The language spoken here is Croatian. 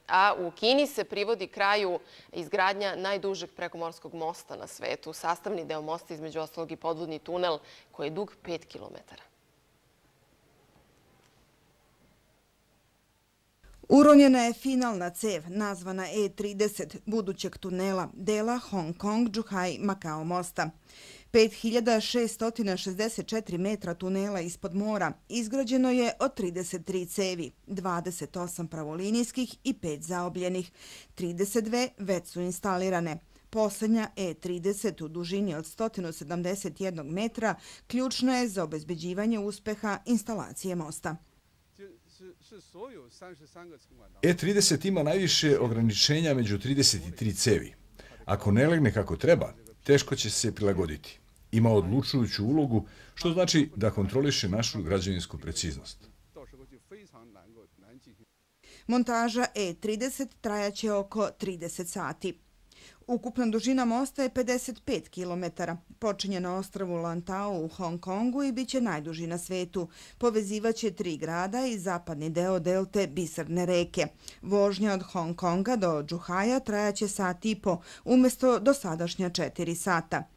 A u Kini se privodi kraju izgradnja najdužeg prekomorskog mosta na svetu. Sastavni deo mosta između ostalog i podvodni tunel koji je dug 5 kilometara. Uronjena je finalna cev, nazvana E30, budućeg tunela, dela Hong Kong-Zhuhai-Makao mosta. 5664 metra tunela ispod mora izgrađeno je od 33 cevi, 28 pravolinijskih i 5 zaobljenih. 32 već su instalirane. Poslednja E30 u dužini od 171 metra ključna je za obezbeđivanje uspeha instalacije mosta. E30 ima najviše ograničenja među 33 cevi. Ako ne legne kako treba, teško će se prilagoditi. Ima odlučujuću ulogu, što znači da kontroliše našu građevinsku preciznost. Montaža E30 trajaće oko 30 sati. Ukupna dužina mosta je 55 kilometara. Počinje na ostrvu Lantau u Hong Kongu i bit će najduži na svetu. Povezivaće 3 grada i zapadni deo delte Biserne reke. Vožnja od Hong Konga do Zhuhaia trajaće sat i po, umjesto dosadašnja 4 sata.